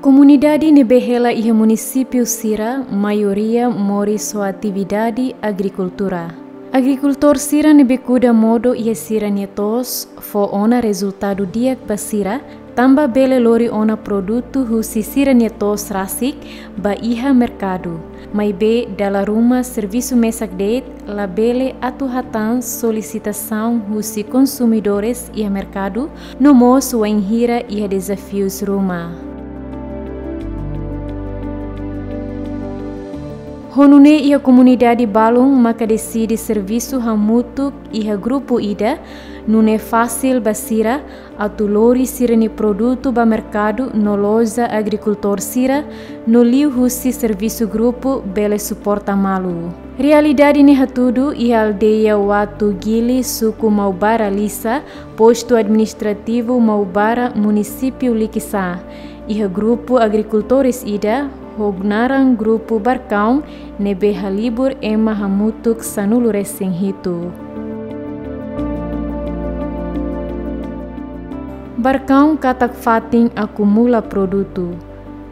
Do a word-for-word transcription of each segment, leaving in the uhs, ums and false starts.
Komunidade ne'ebé hela iha munisípiu sira, maioria moris ho atividade agrikultura. Agrikultór sira ne'ebé kuda modo iha sira-nia to'os, fó ona rezultadu di'ak ba sira, tanba bele lori ona produtu husi sira-nia to'os rasik ba iha merkadu. Maibé dala ruma servisu mesak de'it, labele atu hatán solisitasaun husi konsumidores iha merkadu, no mós wainhira iha dezafius ruma. Ho nune'e iha komunidade balun maka deside servisu hamutuk iha grupu ida, nune'e fasil ba sira atu lori sira-nia produtu ba merkadu no loja agrikultór sira, no liuhusi servisu grupu bele suporta malu. Realidade ne'e hatudu iha aldeia Watu Gili, suku Maubara Lisa, postu administrativu Maubara, munisípiu Likisá. Iha grupu agrikultór ida, ho naran grupu Barkaun, ne'ebé halibur ema hamutuk sanulu-resin-hitu. Barkaun katak fatin akumula produtu.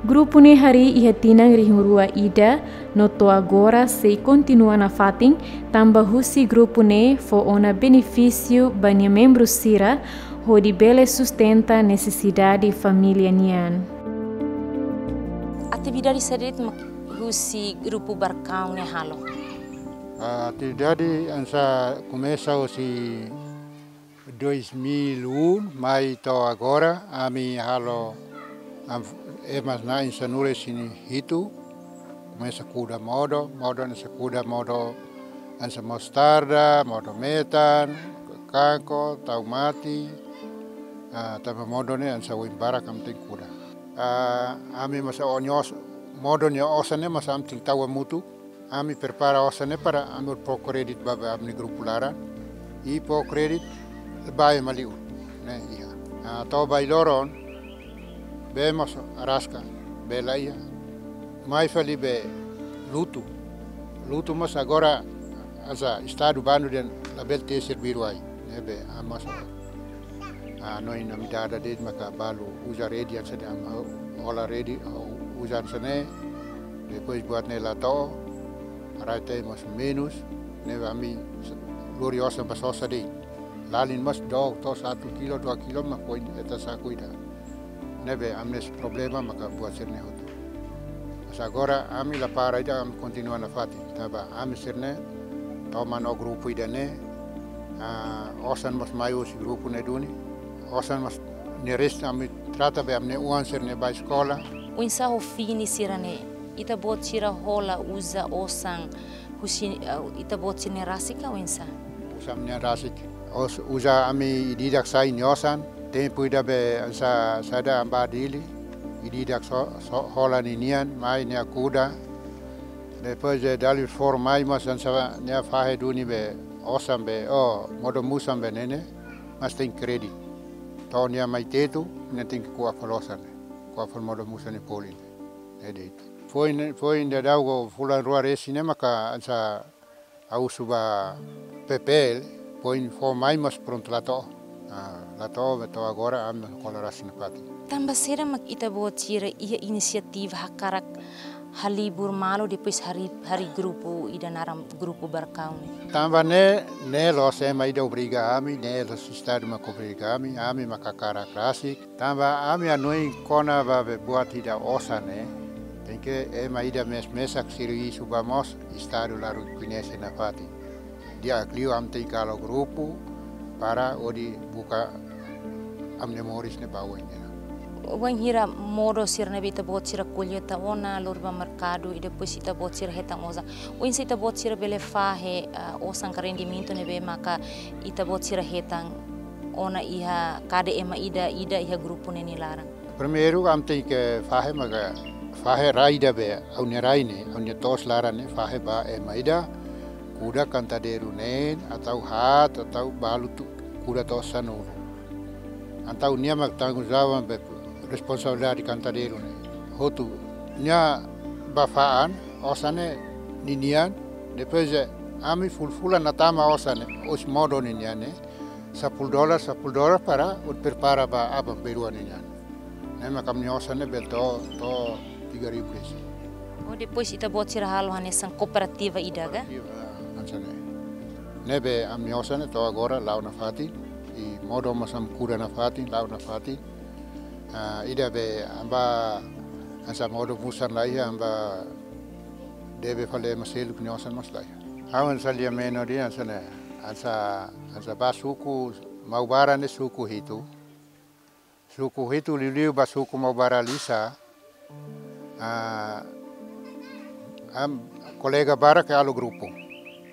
Grupu ne'e harii iha tinan rihun rua ida, no to'o agora sei kontinua nafatin, tanba husi grupu ne'e fó ona benefísiu ba nia membru sira, hodi bele sustenta nesesidade família nian. Atividade saida de'it mak husi grupu Barkaun ne'e halo? Atividade hanesan komesa husi dois mil e um, mai to'o agora, ami halo, am, ema na'in sanulu-resin-hitu, komesa kuda modo, modo hanesan kuda modo hanesan mostarda, modo metan, kanko, taumati, ah, tanba modo ne'e hanesan oin barak ami tenke kuda. Ah, ami masa onios, modo nia osan ne'e masa ami tenke tau hamutuk, ami prepara osan ne'e para ami fó kréditu ba, ba ami-nia grupu laran. I fó kréditu ba ema liur ne'e iha. Ah, to'o ba loron, bee mós araska, bee la iha. Mai fali bee lutu. Lutu mós agora hanesan estadu bandu dehan labele tesi biru ai. Ne'ebé ami mós, ah, no ina midada de'it maka balu uza redi hanesan dehan ami hola redi, ah, uza hanesan ne'e. Depois buat ne'e la to'o, rai-tee mós menus, ne'ebé ami lori osan ba sosa de'it. Lalin mós dook to'o satu kilo, dua kilo mak foin iha saku ida. Ne'ebé ami-nia problema maka buat sira-ne'e hotu. Mas agora ami la para ida, ami kontinua nafatin. Tanba ami sira-ne'e toman ho grupu ida-ne'e, ah, osan mós mai husi grupu ne'e duni. Osan mós ne'e resta ami trata be ami-nia oan sira-ne'e bá eskola. Oinsá ho fini sira-ne'e, ita-boot sira hola uza osan husi, eh, ita-boot sira-nia rasik ka oinsá? Uza ami-nia rasik. Os-, uza ami ida-idak sai nia osan. Tempu ida be hanesan saida, ami bá Dili. Ida-idak so, so, hola ninian, mai nia kuda. Depois de dala ruma mai mós hanesan nia fahe duni be osan be, oh, modo-musan be ne'e ne'e, mas tenke kréditu. To'o nia mai Tetu, nia tenke ko'a fali osan ne'e. Ko'a fali modo-musan nia folin ne'e. Ne'e de'it. Foin, foin daudaun fulan rua resin ne'e maka hanesan ha'u husu ba P P L, foin fó mai mas prontu la to'o. Ah, la to'o, be to'o agora ami hola rasik nafatin. Tanba saida mak ita-boot sira iha inisiativa hakarak halibur malu depois harii, harii grupu ida naran grupu Barkaun ne'e? Tanba ne'e, ne'e la'ós ema ida obriga ami, ne'e la'ós estadu mak obriga ami, ami mak hakarak rasik. Tanba ami hanoin kona-ba be buat ida osan ne'e, tenke ema ida mes-, mesak servisu bá mós, estadu la rekoñese nafatin. Di'ak liu ami tenke halo grupu para hodi buka ami-nia moris ne'e ba oin ne'e. Wainhira modo sira ne'ebé ita-boot sira kolleita ona, lori ba merkadu, i depois ita-boot sira hetan osan. Oinsá ita-boot sira bele fahe, ah, osan ka rendimentu ne'ebé maka ita-boot sira hetan ona iha kada ema ida-ida iha grupu ne'e nia laran? Primeiru, ami tenke fahe maka, fahe rai ida be, ha'u-nia rai ne'e, ha'u-nia to'os laran ne'e, fahe ba ema ida kuda kantadeiru neen, atu haat, atu balu tu, kuda to'o sanulu. Entaun nia mak tanggung jawab be responsabilidade kantadeiru ne'e. Hotu, nia bá fa'an, osan ne'e ninian, Depois, eh, ami fulan-fulan ne'e tama osan ne'e, osan modo ne'e nian ne'e, sapuluh dolar, sapuluh dolar para hodi prepara ba aban-bainrua ne'e nian. Ne'e mak ami-nia osan ne'e bele to'o, to'o tiga ribu resin. Oh, depois ita-boot sira halo hanesan kooperativa ida ka? Kooperativa, ah, hanesan ne'e. Ne'ebé ami-nia osan ne'e to'o agora la'o nafatin, i modo mós ami kuda nafatin, la'o nafatin. Ah, ida be ami ba hanesan modo musan laiha, ami ba debe fali ema seluk nia osan mós laiha. Ha'u hanesan lia menor ida hanesan ne'e, hanesan, hanesan ba suku Maubara ne'e suku hitu. Suku hitu liuliu ba suku Maubara Lisa. Ah, ami kolega barak halo grupu.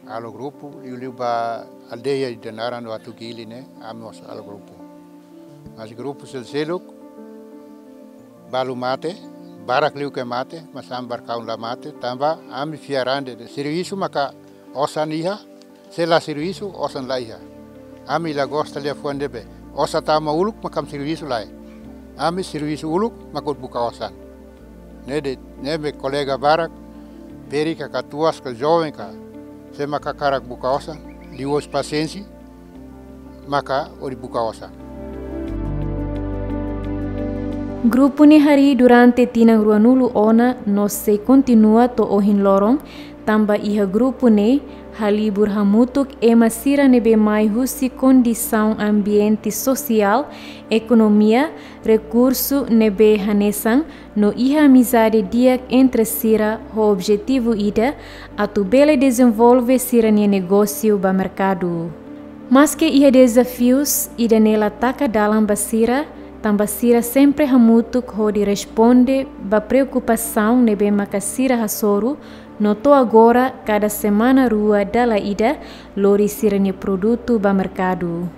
Halo grupu, liuliu ba aldeia ida naran Watu Gili ne'e, ami mós halo grupu. Mas grupu sel-seluk, balu mate, barak liu ke mate, mas ami barkaun la mate, tanba ami fiar an de'it, servisu maka osan iha, se la servisu, osan laiha. Ami la gosta liafuan ne'ebé, osan tama uluk mak ami servisu lae. Ami servisu uluk mak hodi buka osan. Ne'e de'it, ne'ebé kolega barak, ferik ka, katuas ka, joven ka, se mak hakarak buka osan, liuhusi pasiénsia, maka hodi buka osan. Grupu ne'e harii durante tinan ruanulu ona no sei kontinua to'o ohin loron, tanba iha grupu ne'e halibur hamutuk ema sira ne'ebé mai husi kondisaun ambiente sosiál, ekonomia, rekursu ne'ebé hanesan, no iha amizade di'ak entre sira ho objetivu ida, atu bele dezenvolve sira-nia negósiu ba merkadu. Maske iha dezafius, ida-ne'e la taka dalan ba sira, tanba sira sempre hamutuk hodi responde ba preokupasaun ne'ebé maka sira hasoru, no to'o agora kada semana rua dala ida lori sira-nia produtu ba merkadu.